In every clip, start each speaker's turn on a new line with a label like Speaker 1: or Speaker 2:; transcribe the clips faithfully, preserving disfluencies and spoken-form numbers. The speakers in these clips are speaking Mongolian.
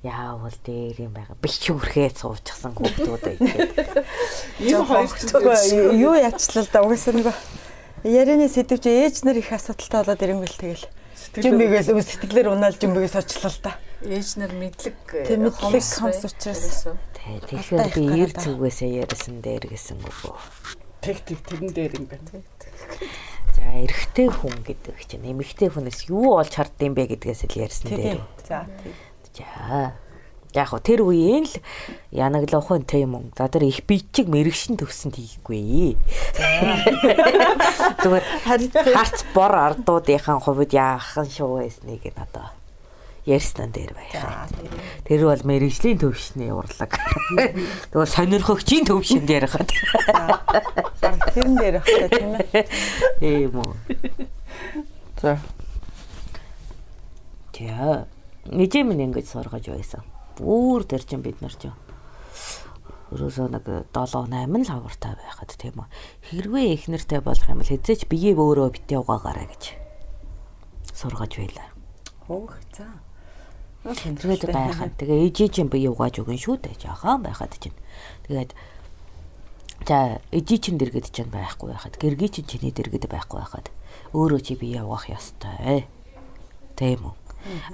Speaker 1: яавал дээр юм байгаа. Бичүүрхээ цуучсан хүүхдүүд ээ.
Speaker 2: Юу хоёртой юу яачлаа л да угаасаа нөгөө ярианы сэдв чи ээж нар их асуудалтай болоод ирэнгүүл тэгэл. Жимбигээс сэтгэлээр унаал жимбигээс очлоо л да.
Speaker 3: Ээж нар мэдлэг
Speaker 2: мэдлэг хомс учраас.
Speaker 1: Тэгэхээр би эр зүгээсээ ярьсан дээр гэсэн үг.
Speaker 4: Тэг тэг тэрэн дээр юм байна.
Speaker 1: За эрэгтэй хүн гэдэг чинь эмэгтэй хүнээс юу олж хардсан бэ гэдгээс л ярьсан дээр.
Speaker 2: За тийм.
Speaker 1: За яг хөө тэр үеийн л янаглахын тийм юм. За тэр их бичиг мэрэгшин төвсөнд хийхгүй. Зүгээр харц бор ардуудынхаа хувьд яахан шүү байсныг нь одоо ярьсан дээр байхаа. Тэр бол мэрэгжлийн төвшний урлаг. Тэгвэл сонирхогчийн төвшөнд ярихад.
Speaker 2: Тэрэн дээр ахтай тийм ээ.
Speaker 1: Тийм үү. За. Тэ. Нэжим ингэж сургаж байсан. Бүр тэр чинь бид нар чинь өрөөсөө нэг долоо найман л хавартай байхад тийм үү. Хэрвээ их нэртэй болох юм бол хэзээ ч бие өөрөө битээ угаагаарай гэж сургаж байлаа.
Speaker 2: Хөөх за.
Speaker 1: Тэгээд байхад тэгээ ээжээ чинь бие угааж өгөн шүү дээ. Жаахан байхад чинь. Тэгээд за ээжээ чинь дэргэд чинь байхгүй байхад гэргий чинь чиний дэргэд байхгүй байхад өөрөө чи бие угаах ёстой. Тийм үү.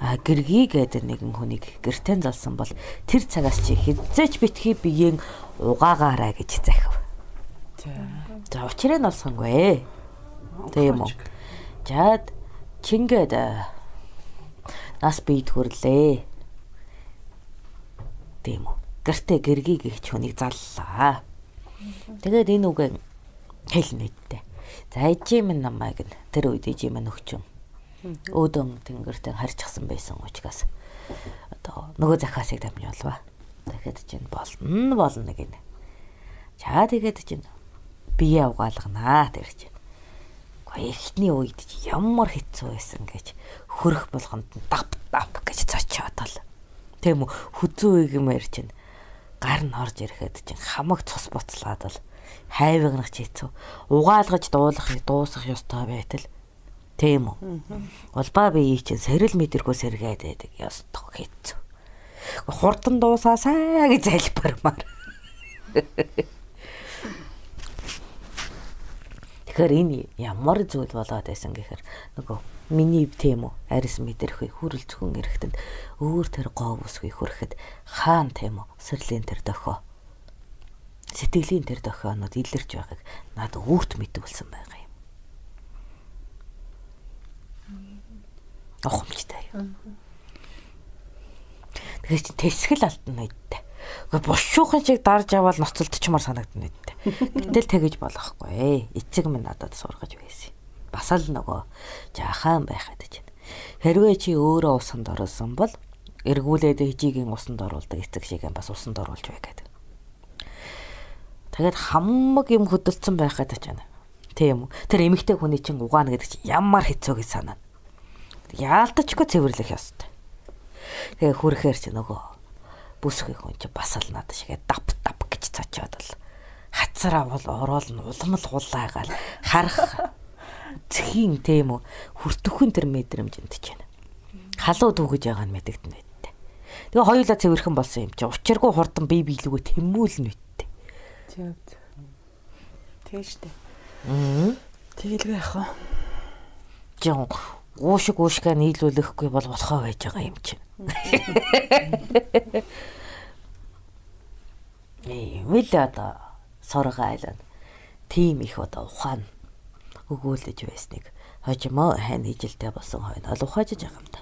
Speaker 1: А гэргий гэдэг нэгэн хүнийг гэртэн залсан бол тэр цагаас чи хэзээч битгий биеийн угаагаарай гэж захив. За учраа нь олсонгүй. Тийм үү. Жаад чингээд нас бийд хүрлээ. Тийм үү. Гэртээ гэргий гихч хүнийг заллаа. Тэгээд энэ үгэн хэлнэдтэй. За ээжийн минь намайг тэр үед ээжийн минь өгчөн. Өөдөн тэнгэртээ харьчихсан байсан учраас одоо нөгөө захаасыг дамжуулва. Тэгэхэд чинь болно болно гинэ. За тэгээд чинь бие угаалганаа тэр чинь. Гэхдээ эхний үед ямар хэцүү байсан гэж хөрөх болгонд дап дап гэж цочоод л. Тийм үү хүзүү игмэр чинь гар нь орж ирэхэд чинь хамаг цус буцлаад л хайвагнах хэцүү. Угаалгаж дуулах дуусах ёстой байтал. Тийм үү. Улбаа бие чинь сэрэл мэдэрхүү сэргээд байдаг. Ёстой хэцүү. Хурдан дуусаасаа гэж залбирмаар. Тэгэхээр энэ ямар зүйл болоод байсан гэхээр нөгөө миний тийм үү арис мэдэрхүй хүрэл зөвхөн эрэхтэнд өөр тэр гов усгүй хүрэхэд хаан тийм үү сэрлийн тэр дохио сэтгэлийн тэр дохионод илэрч байгааг над өвгт мэдүүлсэн байгаа юм. Охомжтой. Тэгэхээр чи тэсгэл алтан байдтай. Гэхдээ бушуухан шиг дарж аваад ноцолдчмаар санагдана байдтай. Гэтэл тэгэж болохгүй. Эцэг минь надад сургаж байсан. Бас л нөгөө жаахан байхад гэж. Хэрвээ чи өөрөө усанд орсон бол эргүүлээд хижигийн усанд оруулдаг эцэг шиг юм бас усанд оруулж бай гэдэг. Тэгээд хамаг юм хөдөлсөн байхад ч байна. Тийм үү. Тэр эмэгтэй хүний чинь угаана гэдэг чинь ямар хэцүү гэж санана. Яалтачгүй цэвэрлэх ёстой. Тэгээ хүрэхээр чи нөгөө бүсгүй хүн чи бас л надад шигээ дап дап гэж цочоод л хацраа бол ороод нь уламл хулаагаал харах зхийн тийм үү хүртөхөн тэр мэдрэмжэнд ч байна. Халуу дүүгэж байгаа нь мэдэгдэн байдтай. Тэгээ хоёулаа цэвэрхэн болсон юм чи учиргүй хурдан бие биелүүгөө тэмүүлнэ үттэй.
Speaker 2: Тийм. Тийм штэ.
Speaker 1: Аа.
Speaker 2: Тэгэлгүй яах вэ?
Speaker 1: Жон уушиг уушгаа нийлүүлэхгүй бол болохоо байж байгаа юм чинь. Ээ, мэл одоо сургаалаа. Тим их одоо ухаан өгөөлөж байсныг хожимоо хань ижилтэй болсон хойно ол ухаажж байгаа юм да.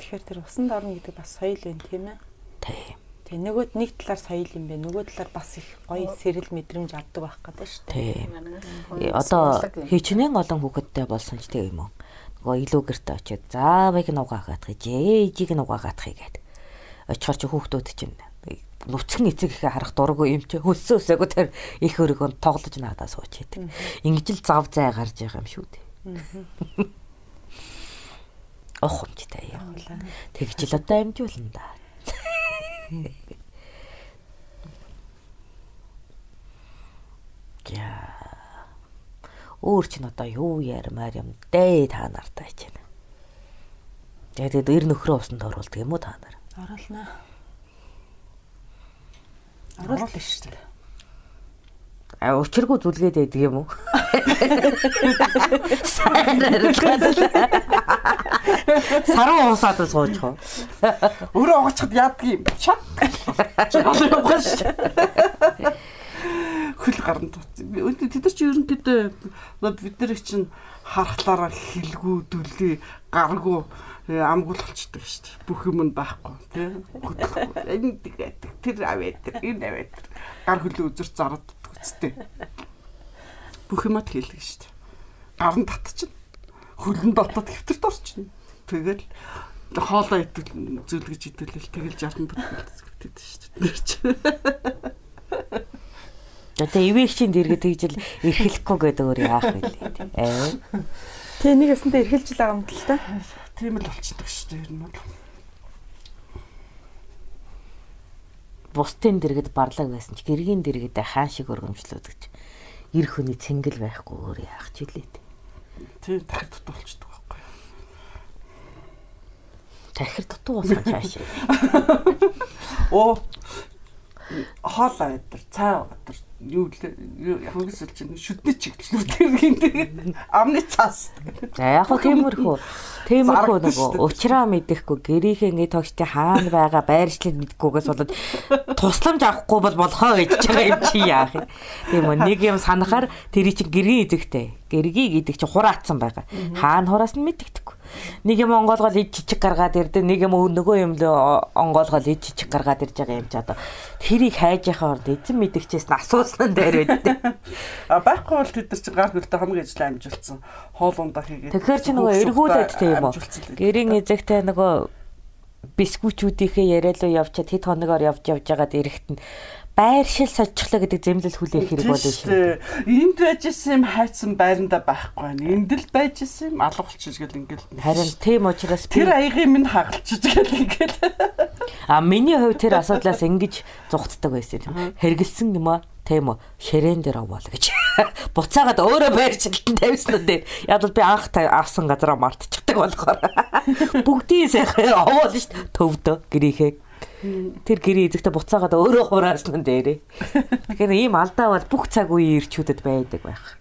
Speaker 2: Тэгэхээр тэр усанд орно гэдэг бас соёл байна тийм ээ.
Speaker 1: Тийм.
Speaker 2: Тэгээ нөгөөд нэг талаар соёл юм бэ. Нөгөө талаар бас их гоё сэрэл мэдрэмж авдаг байх гэдэг шүү дээ.
Speaker 1: Тийм. Одоо хичнээн олон хүүхэдтэй болсон ч тийм юм уу. Нөгөө илүү гэрте очиод заавыг нь угаагаах гэж ээжийг нь угаагаах гэдэг. Очихоор чи хүүхдүүд чинь нүцгэн эцэг ихэ харах дурггүй юм чи хөлсөө өсөөгөө тэр их өргөнд тоглож надаа сууч хийдэг. Ингэж л зав зай гарч байгаа юм шүү дээ. Охомжтой юм. Тэгж л одоо амжуулна да. Я өөр чинь одоо юу ярмаар юм дээ та нартаа ч юм. Тэгээд эр нөхрөө усанд оруулдаг юм уу та нар?
Speaker 2: Оруулнаа.
Speaker 4: Оруулна шүү дээ.
Speaker 1: А учиргүй зүлгээд байдаг юм уу? Саруу уусаад сууж хоо.
Speaker 4: Өөрөө угачхад яадаг юм. Шат. Хөл гарна. Тэд нар чи ерөнхийдөө бид нар чинь харахлаараа хилгүү дүлээ гаргуу амгуулчихдаг шүү дээ. Бүх юм нь байхгүй тийм. Энэ тэгээд тэр аваад энэ аваад гар хөлөө үзэр зараад үстэй. Бүх юмад хэлдэг шүү дээ. Гарн татчихна. Хөлн дотоод хэвтэрт орчихно. Тэгэл хоолоо идэл зүлгэж идэлэл тэгэл жартан бүтэлдэг шүү дээ.
Speaker 1: Тэгээ ивээгчийн дэргэд тэгжил эрхлэхгүй гэдэг өөр яах вэ? Аа.
Speaker 2: Тэ нэг ясантай эрхэлж л байгаа юм л та.
Speaker 4: Тийм л болчихдог шүү дээ. Ер нь бол.
Speaker 1: Бусдын дэргэд барлаг байсан ч гэргийн дэргэдээ хаан шиг өргөмжлүүд гэж эр хүний цэнгэл байхгүй өөр яах ч үлээ.
Speaker 4: Тийм тархи дутуу болчихдог байхгүй юу?
Speaker 1: Тархи дутуу болсон цааш.
Speaker 4: Оо хоолой өдөр, цаа өдөр юу хөнгөсөл чинь шүдний чиглэлүүд гинтэй амны цаас.
Speaker 1: За яг хөө тиймэрхүү. Тиймэрхүү нөгөө уучраа мэдэхгүй гэрийнхээ ингэ тогттой хаана байгаа байршлыг мэдхгүйгээс болоод тусламж авахгүй бол болохоо гэж байгаа юм чи яах юм. Тийм үү нэг юм санахаар тэр чинь гэргийн эзэгтэй. Гэргийг идэг чи хураацсан байгаа. Хаана хураас нь мэддэггүй. Нэг юм онгоолгол ид чичиг гаргаад ирдэ нэг юм нөгөө юм л онгоолгол ид чичиг гаргаад ирж байгаа юм чи одоо тэрийг хайж яхаа орд эзэн мэдгчээс нь асуусан дээр байдэ.
Speaker 4: А байхгүй бол тэд нар чи гар хөлтөй хамгийн ажил амжилтсан хоол ундаа хийгээд.
Speaker 1: Тэгэхээр чи нөгөө эргүүлээд тийм үү. Гэрийн эзэгтэй нөгөө бисквичүүдийнхээ яриалуу явчаад хэд хоногоор явж явж байгаад эрэхт нь байршил сочглоо гэдэг зэмлэл хүлээх хэрэг болно шүү.
Speaker 4: Энд байж исэн юм хайцсан байранда байхгүй байна. Энд л байж исэн юм алга болчих гэл ингээл.
Speaker 1: Харин тийм учраас
Speaker 4: тэр аягийн минь хагалчих гэл ингээл.
Speaker 1: А миний хувьд тэр асуудлаас ингэж зугтдаг байсан юм. Хэргэлсэн юм аа тийм үү ширээн дээр овоол гэж. Буцаагаад өөрөө байршилтанд тавьсан уу дээ. Яг л би анх авсан газараа мартчихдаг болохоор. Бүгдийн сайхан овоол шүү дээ. Төвдөө гэрийнхээ. Тэр гэрээ эзэгтэй буцаагаад өөрөө хураасан дээрээ. Тэгэхээр ийм алдаа бол бүх цаг үеийн ирчүүдэд байдаг байх.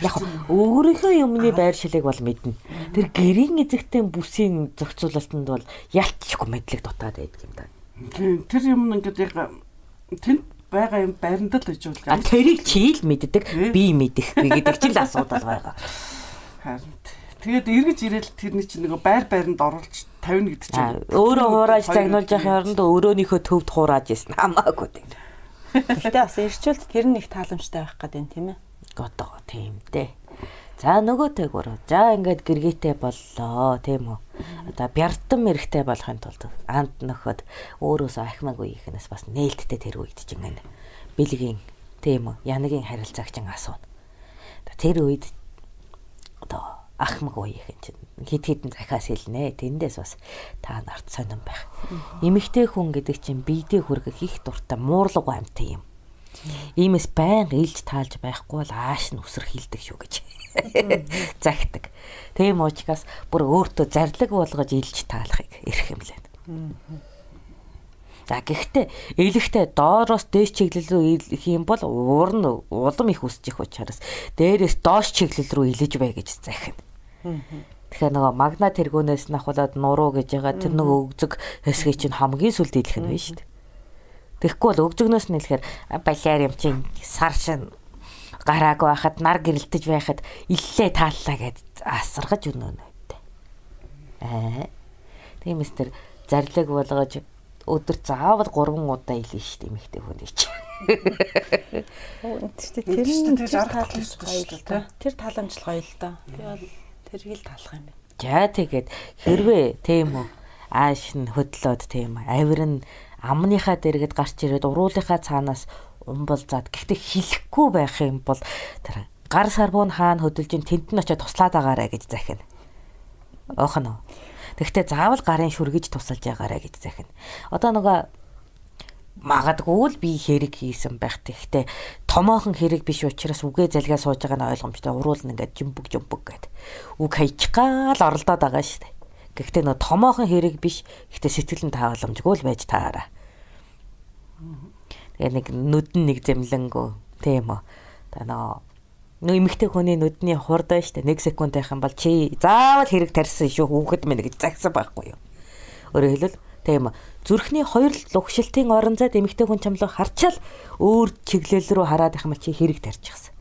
Speaker 1: Яг өөрийнхөө юмны байршилыг бол мэднэ. Тэр гэрийн эзэгтэй бүсийн зохицуулалтанд бол ялцчихгүй мэдлэг дутаад байдаг юм да.
Speaker 4: Тэр юм ингээд яг тэнд байгаа юм байранд л гэж
Speaker 1: байгаа. А тэрийг чи л мэддэг, би мэдэхгүй гэдэг чинь л асуудал байгаа.
Speaker 4: Харин тэгээд эргэж ирээл тэрний чинь нөгөө байр байранд оруулж тавина гэдэг чинь
Speaker 1: өөрөө хурааж загнуулж явахын оронд өөрөөнийхөө төвд хурааж исэн хамаагүй тийм.
Speaker 2: Гэхдээ бас ирчүүлт тэр нэг тааламжтай байх гэдэг юм тийм ээ.
Speaker 1: Годоо тийм дээ. За нөгөөтэй гурав. За ингээд гэргээтэй боллоо тийм үү. Одоо бяртан мэрэгтэй болохын тулд анд нөхөд өөрөөсөө ахмаагүй ихнээс бас нээлттэй тэр үед чинь ингээд бэлгийн тийм үү. Янагийн харилцаагч асууна. Тэр үед одоо ахмаг уухийн чинь хит хитэн захиас хэлнэ. Тэндээс бас та нарт сонирн байх. Эмэгтэй хүн гэдэг чинь биедээ хүргэх их дуртай муурлаг амьтан юм. Иймээс байн илж таалж байхгүй бол ааш нь үсрэх хилдэг шүү гэж загтаг. Тийм учраас бүр өөртөө зарлиг болгож илж таалахыг эрх юм лээ. За гэхдээ элэгтэй доороос дээш чиглэл рүү илэх юм бол уур нь улам их үсчих учраас дээрээс доош чиглэл рүү илэж бай гэж захина. Тэгэхээр нөгөө магна тэргүүнээс нь ахуулаад нуруу гэж байгаа тэр нөгөө өгзөг хэсгийг чинь хамгийн сүлд илэх нь байна шүү дээ. Тэгэхгүй бол өгзөгнөөс нь илэхээр балиар юм чинь сар шин гараагүй байхад нар гэрэлтэж байхад иллээ тааллаа гэд асаргаж өнөөнө үү. Аа. Тиймээс тэр зарлиг болгож өдөр заавал гурван удаа илээ шүү дээ эмэгтэй хүн ич.
Speaker 2: Оо тэр тэр таламжлага тэр таламжлага гоё л доо. Би бол тэрийг л таалах юм байна.
Speaker 1: За тэгээд хэрвээ тийм үү ааш нь хөдлөөд тийм авир нь амныхаа дэргэд гарч ирээд уруулынхаа цаанаас умбалзаад гэхдээ хилэхгүй байх юм бол тэр гар сарбуун хаана хөдөлж ин тэнд нь очиод туслаад агаарэ гэж захина. Охно. Тэгэхдээ заавал гарын шүргэж тусалж ягаарэ гэж захина. Одоо нөгөө магадгүй л би хэрэг хийсэн байх. Тэгэхдээ томоохон хэрэг биш учраас үгээ залгаа сууж байгаа нь ойлгомжтой. Уруул нь ингээд жимбэг жимбэг гэд. Үг хайчгаал оролдоод байгаа шүү дээ. Гэхдээ нөө томоохон хэрэг биш. Гэхдээ сэтгэл нь тааламжгүй л байж таараа. Тэгээ нэг нүд нь нэг зэмлэнгөө тийм үү. Та нөө нөө эмэгтэй хүний нүдний хурдаа штэ нэг секунд байх юм бол чи заавал хэрэг тарьсан шүү хүүхэд минь гэж загсан байхгүй юу. Өөрөөр хэлбэл тийм үү. Зүрхний хоёр лугшилтын орон зайд эмэгтэй хүн чамлаг харчаал өөр чиглэл рүү хараад их юм чи хэрэг тарьчихсан.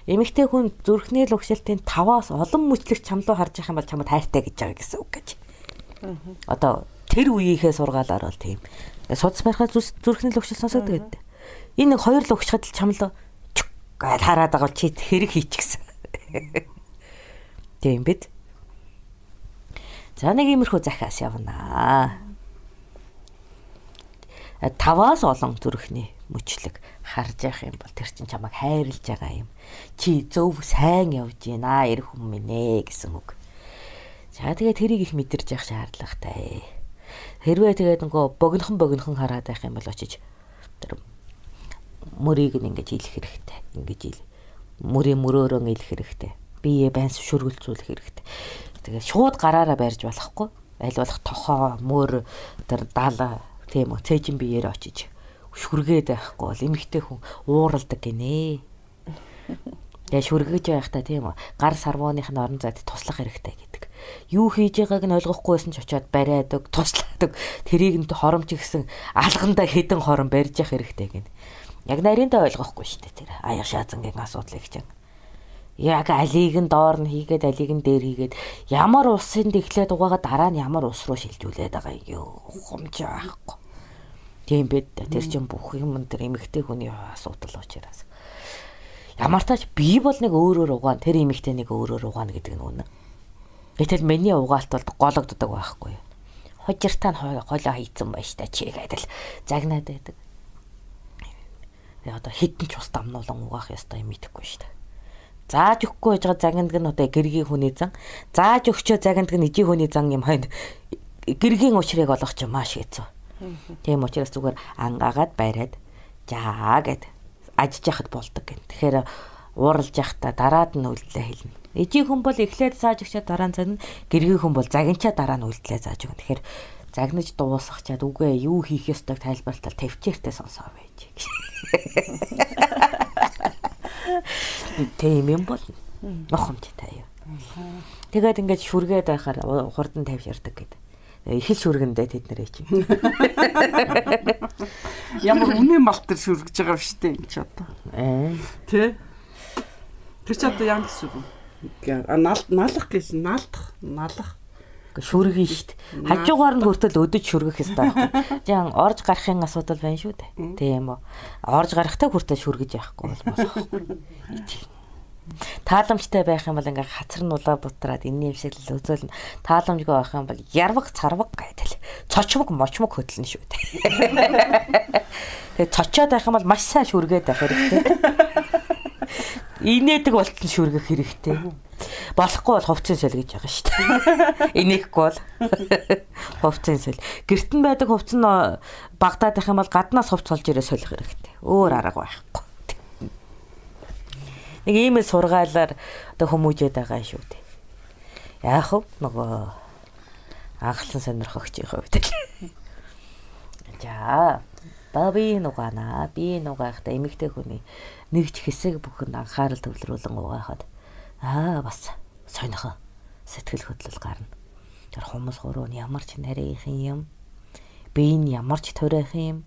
Speaker 1: Эмэгтэй хүн зүрхний лугшилтын таваас олон мөчлөг чамлуу харж их юм бол чамд хайртай гэж байгаа гэсэн үг гэж. Одоо тэр үеийнхээ сургаалаар бол тийм. Судас барихад зүрхний лугшил сонсогддог гэдэг. Энэ нэг хоёр лугшихад л чамлуу гал хараад байгаа чи хэрэг хийчихсэн. Тийм бид. За нэг иймэрхүү захиас явнаа. Таваас олон зүрхний мөчлөг харж явах юм бол тэр чинь чамайг хайрлаж байгаа юм. Чи зөв сайн явж байна эрх хүн минь ээ гэсэн үг. За тэгээ тэрийг их мэдэрч явах шаардлагатай. Хэрвээ тэгээд нөгөө богинохон богинохон хараад байх юм бол очиж тэр мөрийг нь ингэж ийлэх хэрэгтэй. Ингэж ийл. Мөрийн мөрөөрөө ийлэх хэрэгтэй. Бие байнс шүргэлцүүлэх хэрэгтэй. Тэгээд шууд гараараа барьж болохгүй. Аль болох тохоо, мөр, тэр даала тийм үү цээжин биеэр очиж шүргээд байхгүй бол эмэгтэй хүн ууралдаг гинэ. Тэгээ шүргэж байхдаа тийм үү гар сарвууных нь орон зайд туслах хэрэгтэй гэдэг. Юу хийж байгааг нь ойлгохгүйсэн ч очиод бариадаг, туслаадаг. Тэрийг нь хоромч гисэн алгандаа хідэн хором барьж явах хэрэгтэй гинэ. Яг нарийндаа ойлгохгүй шүү дээ тэр. Аяг шаазангийн асуудлыг чинь. Яг алийг нь доор нь хийгээд алийг нь дээр хийгээд ямар усын дэглээд угаагаа дараа нь ямар ус руу шилжүүлээд байгаа юм ухамж байхгүй. Тийм бид тэр чинь бүх юм тэр эмэгтэй хүний асуудал учраас. Ямар тач би бол нэг өөрөөр угаан тэр эмэгтэй нэг өөрөөр угаана гэдэг нь үнэ. Гэтэл миний угаалт бол гологддог байхгүй. Хожиртаа нь хоолоо хийцэн байж та чи гэдэл загнаад байдаг. Одоо хитэн ч ус дамнуулан угаах ёстой юм мэдэхгүй шүү дээ. Зааж өгөхгүй байж байгаа загнадаг нь одоо гэргийн хүний зан. Зааж өгчөө загнадаг нь ижи хүний зан юм хойно гэргийн уучрыг олгох ч маш хэцүү. Тийм учраас зүгээр ангаагаад байраад жаа гэд ажиж яхад болдог гэн. Тэгэхээр ууралж яхта дараад нь үйлдэлээ хэлнэ. Ижи хүн бол эхлээд зааж өгчөө дараа нь загна. Гэргийн хүн бол загинчаа дараа нь үйлдэлээ зааж өгнө. Тэгэхээр загнаж дуусгачаад үгүй юу хийх ёстойг тайлбарлалтал тавьчээртэй сонсоо байж. Тийм юм бол нохомжтой юу. Тэгээд ингэж шүргээд байхаар хурдан тавьширдаг гэдэг. Их л шүргэндээ тэд нэрээ чинь.
Speaker 4: Ямар үнэ мал төр шүргэж байгаа биш үү энэ ч одоо.
Speaker 1: Аа.
Speaker 4: Тэ. Тэр ч одоо яа гэсэн үг. А налах гэсэн налдах, налах.
Speaker 1: Шүргэн штт. Хажуугаар нь хүртэл өдөж шүргэх хэрэгтэй байхгүй. Жан орж гарахын асуудал байна шүү дээ. Тийм үү. Орж гарахтаа хүртэл шүргэж яахгүй бол болохгүй. Тааламжтай байх юм бол ингээ хацар нулаа бутраад энэний юм шиг л үзүүлнэ. Тааламжгүй байх юм бол ярваг царваг гэдэл. Цочмог мочмог хөдлөн шүү дээ. Тэгээ цочоод байх юм бол маш сайн шүргээд байх хэрэгтэй. Инээдэг болтон шүргэх хэрэгтэй. Болохгүй бол хувцсын сөл гэж байгаа шүү дээ. Инээхгүй бол хувцсын сөл. Гэртэн байдаг хувц нь багдаад байх юм бол гаднаас хувц олж ирээ солих хэрэгтэй. Өөр арга байхгүй. Нэг ийм л сургаалаар одоо хүмүүжээд байгаа шүү дээ. Яах вэ? Нөгөө анхлан сонирхогч их хувьд. За, баби нугаана. Би нугаахта эмэгтэй хүний нэгж хэсэг бүхэнд анхаарал төвлөрүүлэн угаахад аа бас сонихон сэтгэл хөдлөл гарна. Тэр хүмүүс гурав нь ямар ч нарийнх юм. Би энэ ямар ч төрөх юм.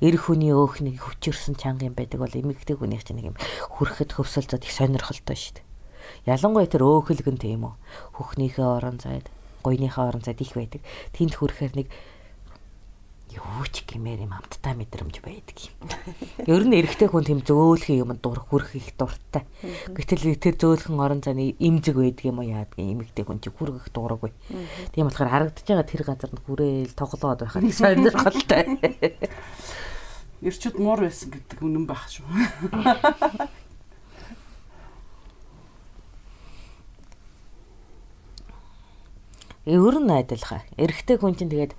Speaker 1: Эр хүний өөхнийг хүчирсэн чанга юм байдаг бол эмэгтэй хүнийх чинь нэг юм хүрхэд хөвсөлцөд их сонирхолтой шүү дээ. Ялангуяа тэр өөхөлгөн тийм үү. Хөхнийхээ орон зайд, гойныхаа орон зайд их байдаг. Тэнд хүрэхээр нэг юу ч гэмээр юм амттай мэдрэмж байдаг юм. Ер нь эрэгтэй хүн тийм зөөлхөн юм дур хүрэх их дуртай. Гэтэл тэр зөөлхөн орон зайны имзэг байдаг юм уу яадг эмэгтэй хүн чи хүрэх дуураггүй. Тийм болохоор харагдаж байгаа тэр газар нь хүрээл тоглоод байхад сонирхолтой.
Speaker 4: Ирчүүд муур байсан гэдэг үнэн байх шүү.
Speaker 1: Ер нь адилхан. Эрэгтэй хүн чинь тэгээд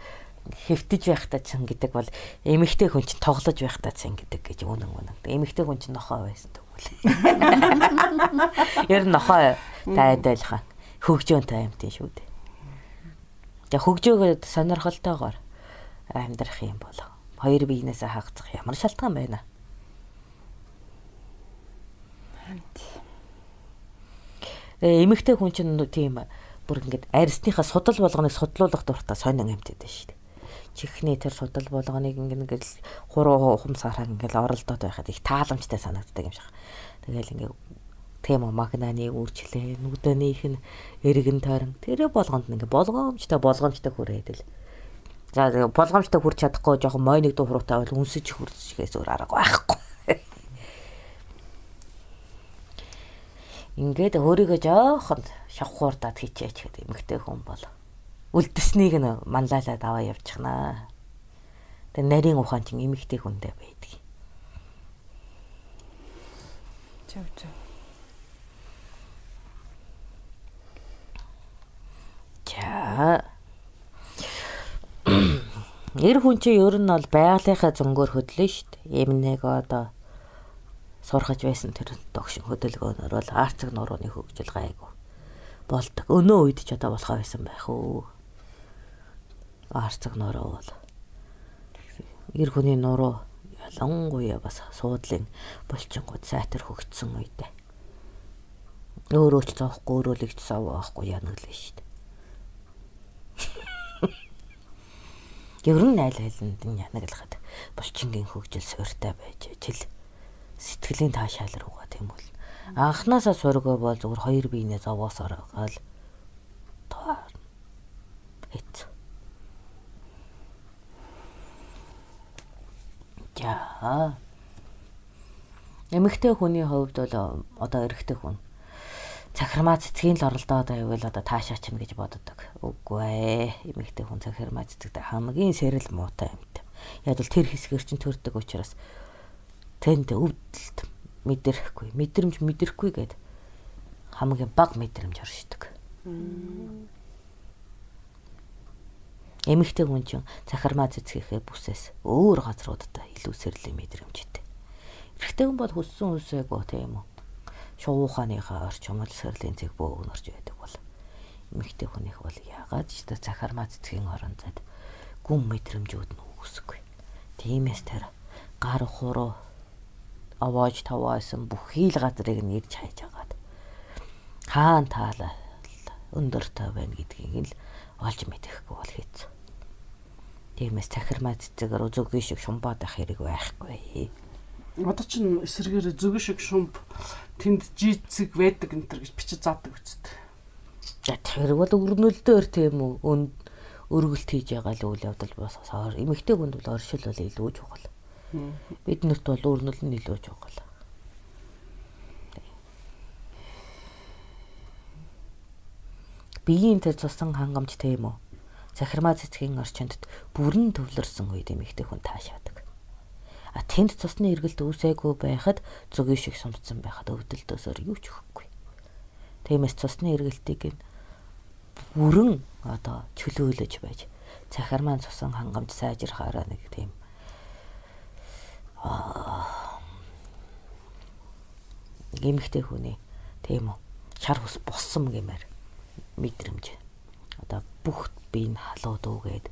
Speaker 1: хэвтэж байхдаа чинь гэдэг бол эмэгтэй хүн чинь тоглож байхдаа чинь гэдэг гэж үнэн үнэн. Эмэгтэй хүн чинь нохоо байсан тэгвэл. Ер нь нохоо та адилхан. Хөгжөөнтэй юм тийм шүү дээ. За хөгжөөгөө сонирхолтойгоор амьдрах юм бол хоёр биенээсээ хаагцах ямар шалтгаан байна? Э эмэгтэй хүн чинь тийм бүр ингээд арьсныхаа судал болгоныг судлуулах дуртай сонин амьтад байна шүү дээ. Чихний тэр судал болгоныг ингээд хуруу ухамсараа ингээд оролдоод байхад их тааламжтай санагддаг юм шиг. Тэгэл ингээд тийм магнаны үрчлээ, нүдэнийх нь эргэн тойрон тэр болгонд ингээд болгоомжтой болгоомжтой хүрээд л. За болгоомжтой хүрч чадахгүй жоохон мойныг дуу хуруутай бол үнсэж хүрчгээс өөр арга байхгүй. Ингээд өөрийгөө жоохон шавхуурдаад хийчээч гэдэг эмэгтэй хүн бол үлдэснийг нь манлайлаад аваа явчихнаа. Тэгээ нарийн ухаан чинь эмэгтэй хүндээ байдаг.
Speaker 2: Зөв зөв.
Speaker 1: За. Эр хүн чинь ер нь бол байгалийнхаа зөнгөөр хөдлөн шүү дээ. Эмнэг одоо сурхаж байсан тэр догшин хөдөлгөөнөр бол арцэг нурууны хөгжил гайгүй болдог. Өнөө үед ч одоо болохоо байсан байх уу. Арцэг нуруу бол эр хүний нуруу ялангуяа бас суудлын булчингууд сайтар хөгжсөн үедээ. Өөрөө ч зоохгүй өөрөө л их зовоохгүй янаглаа шүү дээ. Ер нь айл айланд нь янаглахад булчингийн хөгжил сууртай байж жил сэтгэлийн таашаал руугаа тийм бол анханасаа сургаа бол зүгээр хоёр биенээ зовоосоор гал тоо хэт. За. Эмэгтэй хүний хувьд бол одоо эрэгтэй хүн цахирмаа цэцгийн л оролдоод байвал одоо таашаач юм гэж боддог. Үгүй ээ. Эмэгтэй хүн цахирмаа цэцэгтэй хамгийн сэрэл муутай юмтай. Яг л тэр хэсгээр чинь төрдөг учраас тэнд өвдөлт мэдрэхгүй, мэдрэмж мэдрэхгүй гэд хамгийн бага мэдрэмж оршдог. Эмэгтэй хүн чинь цахирмаа цэцгийнхээ бүсээс өөр газруудаа илүү сэрлийн мэдрэмжтэй. Эрэгтэй хүн бол хүссэн үсээгөө тийм үү. Шууханыхаа орчмол сэрлийн цэг бөөгнөрж байдаг бол эмэгтэй хүнийх бол яагаад ч та цахирмаа цэцгийн орон зайд гүн мэдрэмжүүд нь үүсэхгүй. Тиймээс тэр гар хуруу авааж таваасан бүхий л газрыг нь ирж хайж агаад хаан таалаа өндөртэй байна гэдгийг л олж мэдэхгүй бол хийц. Тиймээс цахирмаа цэцгээр зүгийн шиг шумбаад ах хэрэг байхгүй.
Speaker 4: Одоо чинь эсрэгээр зүгийн шиг шумб тэнд жицэг байдаг энэ төр гэж бичиж заадаг үсттэй.
Speaker 1: За тэр бол өрнөлдөр тийм үү өнд өргөлт хийж байгаа л үйл явдал босоор эмэгтэй хүнд бол оршил бол илүү чухал. Биднэрт бол өрнөл нь илүү чухал. Биеийн тэр цусан хангамж тийм үү. Цахирмаа цэцгийн орчинд бүрэн төвлөрсөн үед эмэгтэй хүн таашаадаг. А тэнд цусны эргэлт үүсээгүй байхад зүгийн шиг сумцсан байхад өвдөлтөөсөр юу ч өгөхгүй. Тиймээс цусны эргэлтийг нь бүрэн одоо чөлөөлөж байж цахирмаа цусан хангамж сайжрахаараа нэг тийм эмэгтэй хүний тийм үү шар хус боссон гэмээр мэдрэмж одоо бүх бие нь халууд үгээд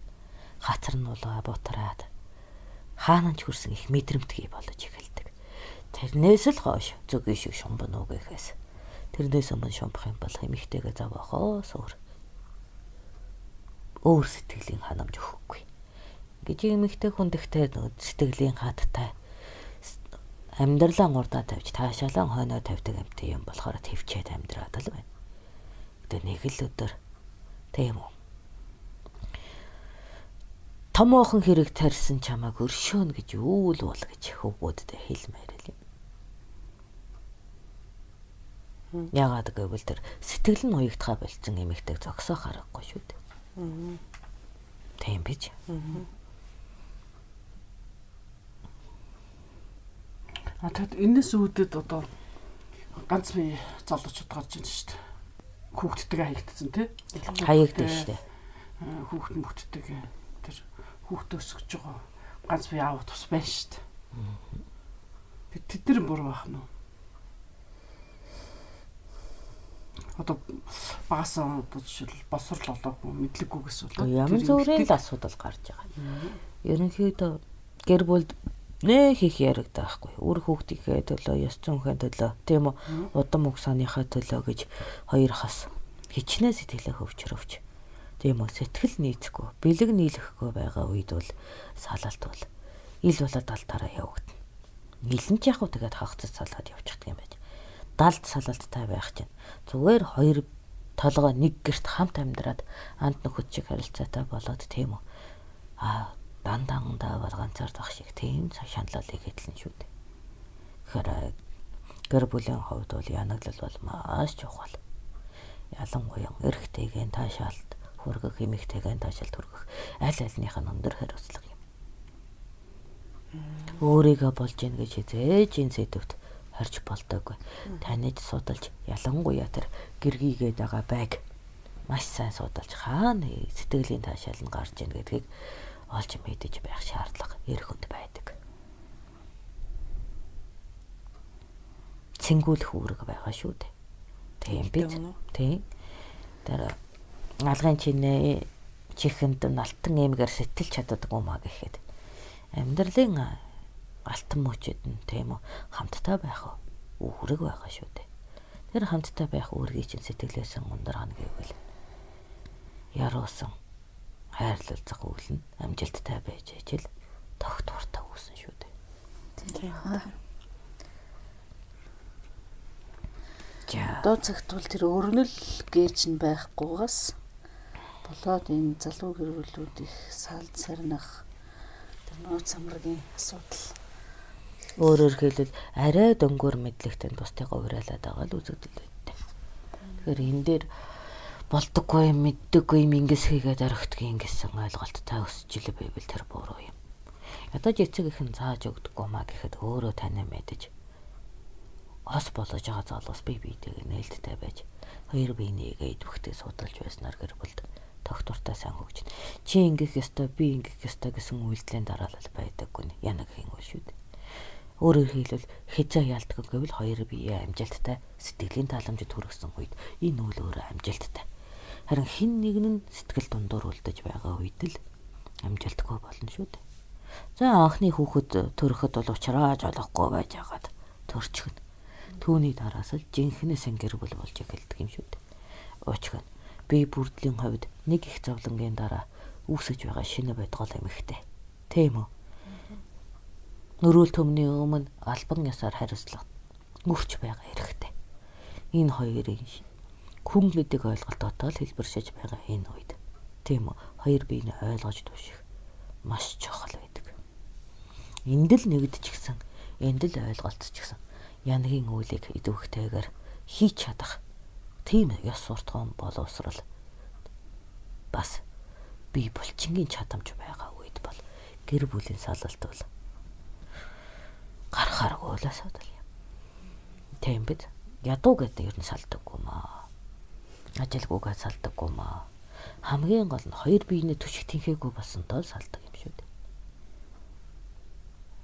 Speaker 1: хацар нь улаа бутраад хаанч хүрсэн их мэдрэмтгий болж эхэлдэг. Тэрнээс л хойш зүгийн шиг шумбан үгээхээс тэрнээс өмнө шумбах юм бол эмэгтэйгээ заваахоос өөр өөр сэтгэлийн ханамж өгөхгүй. Гэж эмэгтэй хүн дэхтэй сэтгэлийн хаттай амьдралаа урдаа тавьж таашаалан хойноо тавьдаг амтай юм болохоор твчээд амьдраад л байна. Гэтэ нэг л өдөр тийм үү. Томоохон хэрэг тарьсан чамааг өршөөнө гэж үүл бол гэж хөвгүүддээ хэлмээр л юм. Яагаад гэвэл тэр сэтгэл нь уягдхаа болцсон эмэгтэйг зогсоох аргагүй шүү дээ. Тийм биш.
Speaker 4: А тэгэд энэс үүдээд одоо ганц бие залуучууд гарч ирж шүү дээ. Хүүхдтэйгээ хаягдсан тий?
Speaker 1: Хаягдсан шүү дээ.
Speaker 4: Хүүхд мөхттэйгээ тэр хүүхдээ өсгөж байгаа ганц бие аав тус байна шүү дээ. Тэд нар буруу байх нь уу? одоо багасаа одоо жишээл босрол олоогүй мэдлэггүйгээс болоод
Speaker 1: ямар зүрийн л асуудал гарч байгаа. Ерөнхийдөө гэр бүлд нэ хийх яригдаа байхгүй. Үр хүүхдийнхээ төлөө, ёс зүйнхээ төлөө, тийм үү? Удам угсааныхаа төлөө гэж хоёр хас хичнээн сэтгэлээ хөвчрөвч. Тийм үү? Сэтгэл нийцэхгүй, бэлэг нийлэхгүй байгаа үед бол салалт бол ил болоод алдаараа явагдана. Нилэн ч яг уу тэгээд хагцад салаад явчихдаг юм байж. Далд салалттай байх чинь зүгээр хоёр толгой нэг гэрт хамт амьдраад анд нөхөд шиг харилцаатай болоод тийм үү? Аа дандангандаа бол ганцаар зах шиг тийм шаналлыг хэдлэн шүү дээ. Тэгэхээр гэр бүлийн хувьд бол янаглал бол маш чухал. Ялангуяа эрэгтэйгэн таашаалт хүргэх, эмэгтэйгэн таашаалт хүргэх аль альнийх нь өндөр хариуцлага юм. Өөрийгөө болж ийн гэж хизээж энэ сэдвт харж болдоогүй. Таныг судалж ялангуяа тэр гэргийгээд байгаа байг маш сайн судалж хаана сэтгэлийн таашаал нь гарч ийн гэдгийг олж мэдэж байх шаардлага эрх хүнд байдаг. Цэнгүүлэх үүрэг байгаа шүү дээ. Тийм биз? Тийм. Тэр алгын чинээ чихэнд алтан эмгээр сэтгэл чаддаг юм а гэхэд амьдралын алтан мөчөд нь тийм үү хамттай байх үүрэг байгаа шүү дээ. Тэр хамттай байх үүргийг чинь сэтгэлээс ундрахна гэвэл яруусан хайрлалцах үйл нь амжилттай байж ижил тогтвортой үүсэн шүү дээ.
Speaker 3: Тийм. За. Доо цагт бол тэр өрнөл гэж нь байхгүйгаас болоод энэ залуу гэр бүлүүд их салд сарнах тэр нууц самрагийн асуудал.
Speaker 1: Өөрөөр хэлбэл арай дөнгөр мэдлэгтэй бусдыгаа уриалаад байгаа л үзэгдэл байдаг. Тэгэхээр энэ дээр болдоггүй юм, мэддэггүй юм ингээс хийгээд орхидгийн гэсэн ойлголттой өсөж ил байвал тэр буруу юм. Ядаж эцэг ихэн зааж өгдөггүй маа гэхэд өөрөө танаа мэдэж ос болж байгаа залуус бие биетэйг нээлттэй байж хоёр биенийгээ идэвхтэй судалж байснаар гэр бүлд тогтвортой сайн хөгжин. Чи ингэх ёстой, би ингэх ёстой гэсэн үйлдэлийн дараалал байдаггүй нь янаг хийн үл шүү дээ. Өөрөөр хэлбэл хязаа ялдаггүй гэвэл хоёр бие амжилттай сэтгэлийн тааламжид хүргэсэн үед энэ үйл өөрөө амжилттай. Харин хин нэг нь сэтгэл дундуур үлдэж байгаа үед л амжилтгүй болно шүү дээ. За анхны хүүхэд төрөхөд бол ухрааж олохгүй байж хагаад төрчихнө. Түүний дараас л жинхэнэ сэн гэр бүл болж эхэлдэг юм шүү дээ. Уучгын би бүрдлийн хувьд нэг их зовлонгийн дараа үүсэж байгаа шинэ байдгал эмхтэй. Тийм үү? Нөрөөл төмний өмнө албан ёсоор хариуцлага өрч байгаа хэрэгтэй. Энэ хоёрын хүн гэдэг ойлголт дотоод хэлбэршиж байгаа энэ үед тийм үү? Хоёр биеийг ойлгож түших маш чухал байдаг. Энд л нэгдчихсэн, энд л ойлголцчихсан. Янагийн үйлийг идэвхтэйгээр хийж чадах тийм ёс суртахуун боловсрал бас бие булчингийн чадамж байгаа үед бол гэр бүлийн салалт бол гарахааргүй л асуудал юм. Тийм биз? Ядуу гэдэг ер нь салдаггүй маа. Ажилгүйгээ салдаггүй маа. Хамгийн гол нь хоёр биенээ түшиг тэнхээгүй болсонтой салдаг юм шүү дээ.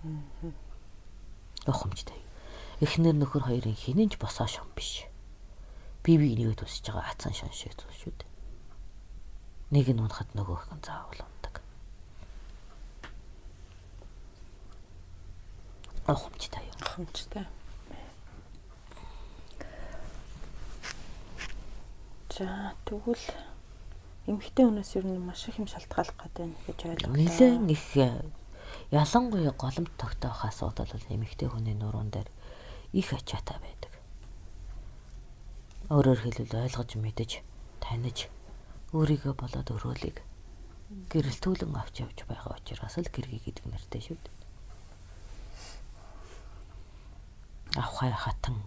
Speaker 1: Аа. Охомжтой. Эхнэр нөхөр хоёрын хинэнч босоо шон биш. Бие биенийгээ түсэж байгаа ацсан шон шиг зүйл шүү дээ. Нэг нь унахад нөгөөх нь заавал ундаг. Охомжтой юм.
Speaker 2: Охомжтой. За тэгвэл эмэгтэй хүнээс ер нь маш их юм шалтгааллах гэдэг нь гэж ойлголоо.
Speaker 1: Нилээн их ялангуяа голомт тогтоох асуудал бол эмэгтэй хүний нуруунд дээр их ачаатай байдаг. Өөрөөр хэлбэл ойлгож мэдэж, таних, өөрийгөө болоод өрөөлийг гэрэлтүүлэн авч явж байгаа учраас л гэргий гэдэг нэртэй шүү дээ. Авхай хатан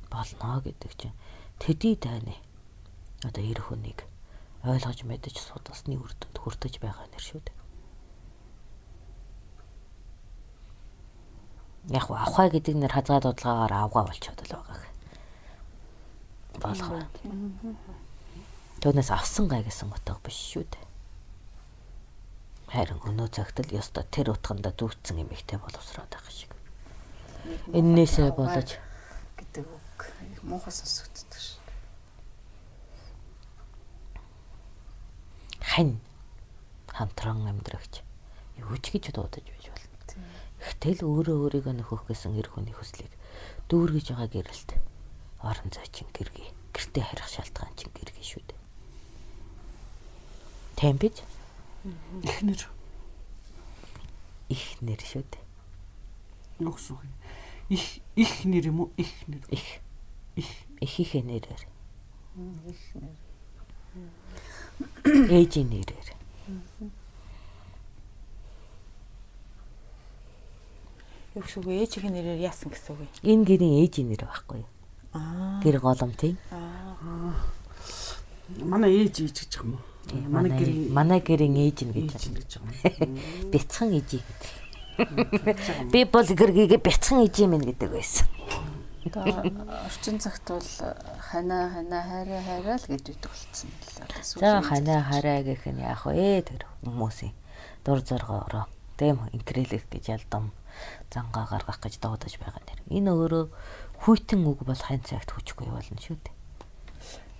Speaker 1: болно гэдэг чинь төдий дайны одоо эр хүнийг ойлгож мэдэж судалсны үр дүнд хүртэж байгаа нэр шүү дээ. Яг авхай гэдэг нэр хазгаа дуудлагаагаар авгаа болчиход л байгаа. Болох. Түүнээс авсан гай гэсэн утга биш шүү дээ. Харин өнөө цагт л ёстой тэр утганда дүүцсэн эмэгтэй боловсроод байгаа шиг. Эннээсээ болож
Speaker 3: гэдэг үү? их муухай сонсогддог шүү.
Speaker 1: Хань хамтран амьдрагч юу ч гэж дуудаж байж болно. Гэтэл өөрөө өөрийгөө нөхөх гэсэн эр хүний хүслийг дүүргэж байгаа гэрэлт орон зай чин гэргий. Гэртээ харих шалтгаан чин гэргий шүү дээ. Тэм бич
Speaker 4: Ихнэр.
Speaker 1: Ихнэр шүү дээ.
Speaker 4: Юу гэсэн үг вэ? Их их нэр юм уу? Их нэр.
Speaker 1: Их их ихийнхээ нэрээр.
Speaker 3: Их нэр.
Speaker 1: Ээжийн нэрээр.
Speaker 2: Юу гэсэн үг ээжийн нэрээр яасан гэсэн үг вэ?
Speaker 1: Энэ гэрийн ээжийн нэр байхгүй юу?
Speaker 2: Аа.
Speaker 1: Гэр голомтын.
Speaker 2: Аа.
Speaker 4: Манай ээж ээж гэж юм уу?
Speaker 1: Манай гэрийн манай гэрийн ээж нь гэж
Speaker 4: гэж байгаа.
Speaker 1: бяцхан ээжий гэдэг. Би бол гэргийгээ бяцхан ээжий минь гэдэг байсан.
Speaker 3: Орчин цагт бол ханаа ханаа хайраа хайраа л гэж үйдэг болсон л.
Speaker 1: За ханаа хараа гэх нь яах вэ тэр хүмүүсийн дур зоргоороо тийм инкрелэх гэж ялдам зангаа гаргах гэж дуудаж байгаа нэр. Энэ өөрөө хүйтэн үг бол хань цагт хүчгүй болно шүү дээ.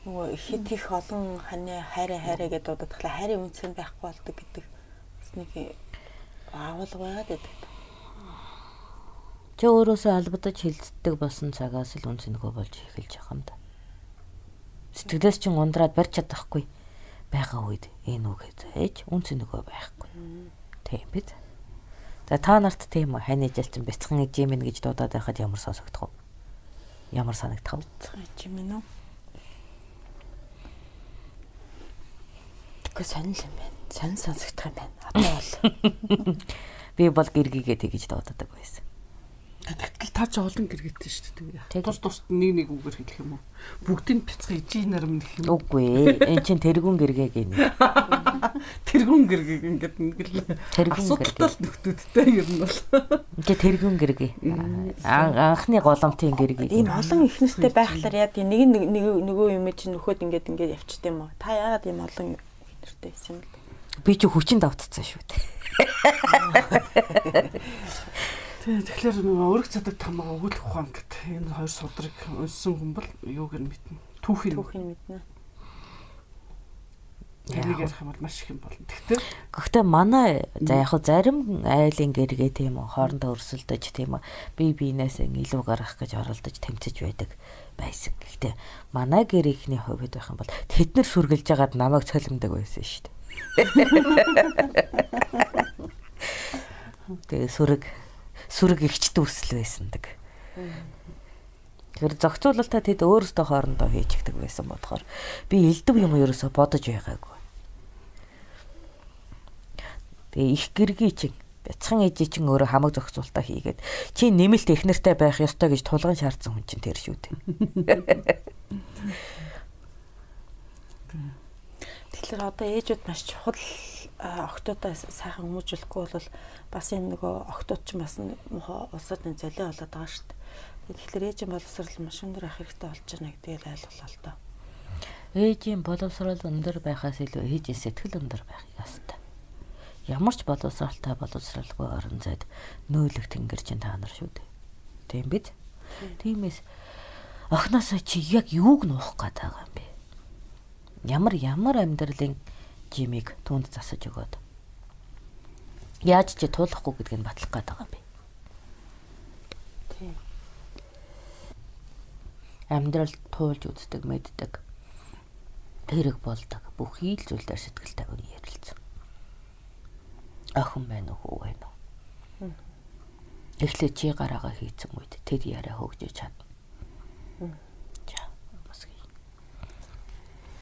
Speaker 2: Нөгөө хит их олон ханаа хайраа хайраа гэдээ дуудаад тахлаа хайрын үнцэн байхгүй болдог гэдэг бас нэг аавал байгаад байдаг.
Speaker 1: Чи өөрөөсөө албадаж хилцдэг болсон цагаас л үнцэнэхөө болж эхэлж байгаа юм да. Сэтгэлээс чин ундраад барьж чадахгүй байгаа үед энэ үг хийж үнцэнэхөө байхгүй. Тийм биз? За та нарт тийм үү хань ижэлчин бяцхан ижи минь гэж дуудаад байхад ямар сонсогдох вэ? Ямар санагдах вэ?
Speaker 2: Ижи минь үү? Тэгвэл сонир юм байна. Сонир сонсогдох юм байна. Одоо бол
Speaker 1: би бол гэргийгээ тэгж дуудаад байсан.
Speaker 4: Тэгтэл та ч олон гэргэтэй шүү дээ. Тус тус нэг нэг үгээр хэлэх юм уу? Бүгдийг бяцхан ижи нарам нэх юм.
Speaker 1: Үгүй ээ. Энд чинь тэргүүн гэргээ гинэ.
Speaker 4: Тэргүүн гэргээ ингээд ингээл асуудалтай нөхдүүдтэй ер нь бол.
Speaker 1: Ингээ тэргүүн гэргээ. Анхны голомтын гэргээ.
Speaker 2: ийм олон ихнэстэй байхлаар яа нэг нэг нөгөө юм чинь нөхөд ингээд ингээд явчихдээ юм уу? Та яагаад ийм олон ихнэртэй байсан юм бэ?
Speaker 1: Би ч хүчин давтцсан шүү дээ.
Speaker 4: Тэгэхээр өрг цадаг тамаа өгөх ухаан гэдэг энэ хоёр судрыг унсан хүн бол юуг нь мэднэ. Түүхийг
Speaker 2: түүхийг мэднэ.
Speaker 4: Тэрийг ярих юм бол маш их юм болно. Тэгтээ
Speaker 1: гэхдээ манай за яг хөө зарим айлын гэргээ тийм үү хоорондоо өрсөлдөж тийм үү бие биенээс илүү гарах гэж оролдож тэмцэж байдаг байсан. Гэхдээ манай гэрийнхний хувьд байх юм бол тэд нар сүргэлж ягаад намайг цолимдаг байсан шүү дээ. Тэгээ сүрэг сүрэг ихчд үсэл байсандаг. Тэгэхээр зохицуулалтаа тэд өөрсдөө хоорондоо хийчихдэг байсан бодохоор би элдв юм ерөөсө бодож байгаагүй. Тэгээ их гэргий чинь бяцхан ээжи чинь өөрөө хамаг зохицуулалтаа хийгээд чи нэмэлт эхнэртэй байх ёстой гэж тулгын шаардсан хүн чинь тэр шүү дээ.
Speaker 2: Тэгэхээр одоо ээжүүд маш чухал охтуудаа сайхан хүмүүжүүлэхгүй бол бас энэ нөгөө охтууд ч бас мохоо улсад нэг золио болоод байгаа шүү дээ. Тэгэхээр ээжийн боловсрал маш өндөр ах хэрэгтэй болж байна гэдгийг ойлгуулаа л доо.
Speaker 1: Ээжийн боловсрал өндөр байхаас илүү ээжийн сэтгэл өндөр байх ёстой. Ямар ч боловсралтай боловсралгүй орон зайд нөөлөх тэнгэр чинь та нар шүү дээ. Тийм биз? Тиймээс охноосоо чи яг юуг нуух гээд байгаа юм бэ? Ямар ямар амьдралын жимийг түнд засаж өгөөд яаж ч туулахгүй гэдгийг батлах гээд байгаа юм бэ?
Speaker 2: Тийм.
Speaker 1: Амьдрал туулж үздэг, мэддэг. Тэрэг болдог. Бүхий л зүйлээр сэтгэл тавин ярилцсан. Охин байна уу, хүү байна уу? Эхлээд чи гараагаа хийцэн үед тэд яриа хөгжиж чадна.